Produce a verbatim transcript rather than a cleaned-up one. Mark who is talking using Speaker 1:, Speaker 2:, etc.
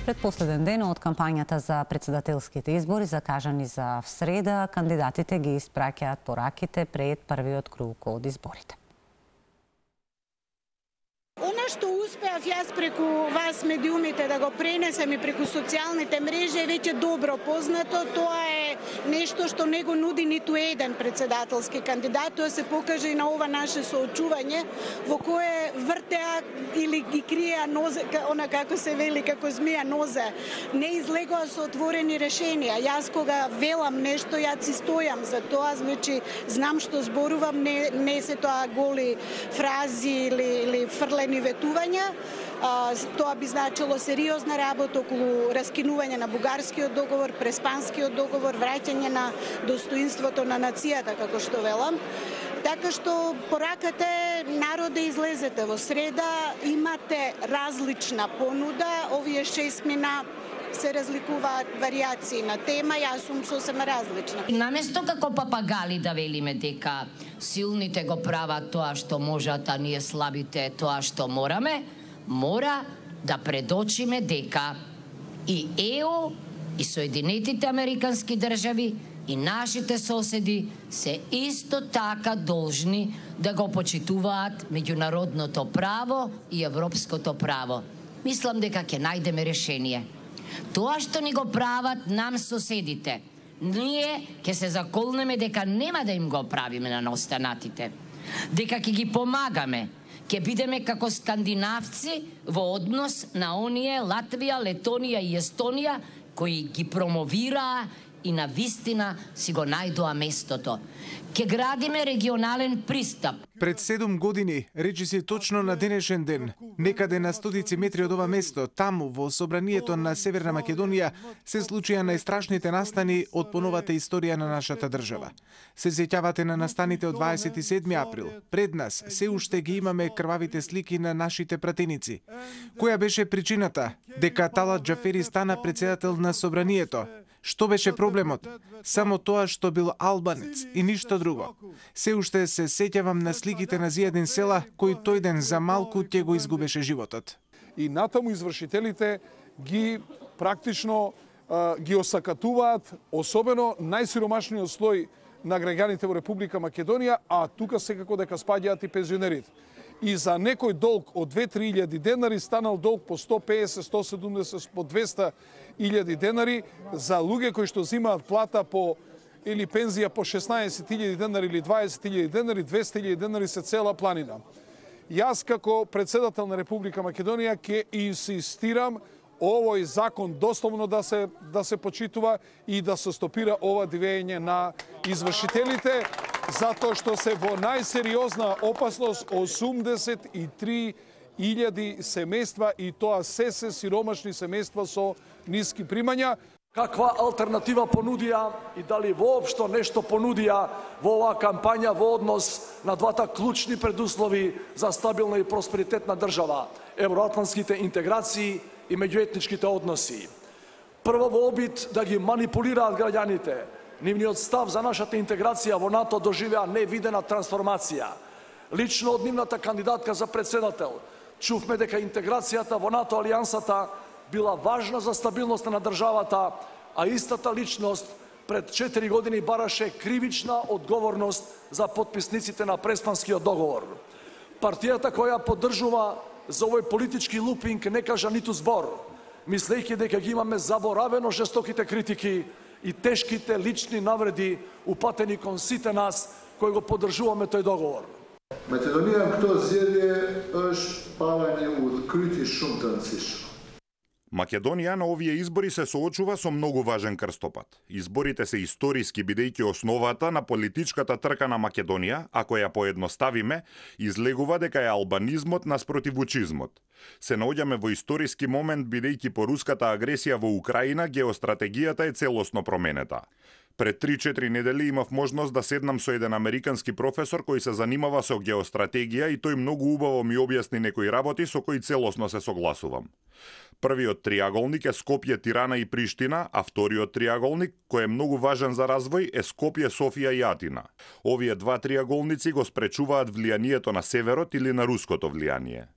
Speaker 1: Предпоследен ден од кампањата за председателските избори, закажани за среда, кандидатите ги испраќаат пораките пред првиот круг од изборите.
Speaker 2: Она што успеав јас преку вас медиумите да го пренесем и преку социјалните мрежи е веќе добро познато. Тоа е нешто што не го нуди ниту еден председателски кандидат. Тоа се покаже и на ова наше соочување во кое вртеа или ги криеа нозе, она како се вели, како змија нозе. Не излегоа со отворени решенија. Јас кога велам нешто, јас си стојам за тоа, значи знам што зборувам, не, не се тоа голи фрази или, или фрлени ветувања. Тоа би значило сериозна работа околу раскинување на бугарскиот договор, преспанскиот договор, враќање на достоинството на нацијата, како што велам. Така што пораката е народ да излезете во среда, имате различна понуда, овие шест мина се разликуваат варијации на тема, јас сум сосема различна.
Speaker 3: Наместо како папагали да велиме дека силните го прават тоа што можат, а ние слабите тоа што мораме, мора да предочиме дека и ЕУ, и Соединетите Американски држави, и нашите соседи се исто така должни да го почитуваат меѓународното право и европското право. Мислам дека ќе најдеме решение. Тоа што ни го прават нам соседите, ние ќе се заколнеме дека нема да им го правиме на останатите, дека ќе ги помагаме, ќе бидеме како скандинавци во однос на оние Латвија, Летонија и Естонија кои ги промовираа и на вистина си го најдоа местото. Ке градиме регионален пристап.
Speaker 4: Пред седум години, речиси точно на денешен ден, некаде на стотици метри од ова место, таму во собранието на Северна Македонија, се случија најстрашните настани од поновата историја на нашата држава. Се сеќавате на настаните од дваесет и седми април. Пред нас се уште ги имаме крвавите слики на нашите пратеници. Која беше причината дека Талат Џафери стана председател на собранието? Што беше проблемот? Само тоа што бил албанец и ништо друго. Се уште се сеќавам на сликите на Зијадин Села, кој тој ден за малку ќе го изгубеше животот.
Speaker 5: И натаму извршителите ги практично ги осакатуваат, особено најсиромашниот слој на граѓаните во Република Македонија, а тука секако дека спаѓаат и пензионерите. И за некој долг од две-три илјади денари станал долг по сто песет, сто седумдесет, по двеста илјади денари за луѓе кои што земаат плата по или пензија по шеснаесет илјади денари или дваесет илјади денари, двеста илјади денари се цела планина. Јас како председател на Република Македонија ќе инсистирам овој закон дословно да се да се почитува и да се стопира ова дивење на извршителите, затоа што се во најсериозна опасност осумдесет и три илјади семејства и тоа се се сиромашни семејства со ниски примања.
Speaker 6: Каква алтернатива понудија и дали воопшто нешто понудија во оваа кампања во однос на двата клучни предуслови за стабилна и просперитетна држава, евроатлантските интеграции и меѓуетничките односи. Прво во обид да ги манипулираат граѓаните, нивниот став за нашата интеграција во НАТО доживеа невидена трансформација. Лично од нивната кандидатка за председател чувме дека интеграцијата во НАТО алијансата била важна за стабилноста на државата, а истата личност пред четири години бараше кривична одговорност за потписниците на Преспанскиот договор. Партијата која поддржува за овој политички лупинг не кажа ниту збор, мислејќи дека ги имаме заборавено жестоките критики и тешките лични навреди упатени кон сите нас кои го поддржуваме тој договор.
Speaker 7: Македонија кто зеле еш павање од крити шумтанциш.
Speaker 8: Македонија на овие избори се соочува со многу важен крстопат. Изборите се историски бидејќи основата на политичката трка на Македонија, ако ја поедноставиме, излегува дека е албанизмот наспротив вучизмот. Се наоѓаме во историски момент бидејќи по руската агресија во Украина геостратегијата е целосно променета. Пред три-четири недели имав можност да седнам со еден американски професор кој се занимава со геостратегија и тој многу убаво ми објасни некои работи со кои целосно се согласувам. Првиот триаголник е Скопје, Тирана и Приштина, а вториот триаголник, кој е многу важен за развој, е Скопје, Софија и Атина. Овие два триаголници го спречуваат влијанието на северот или на руското влијание.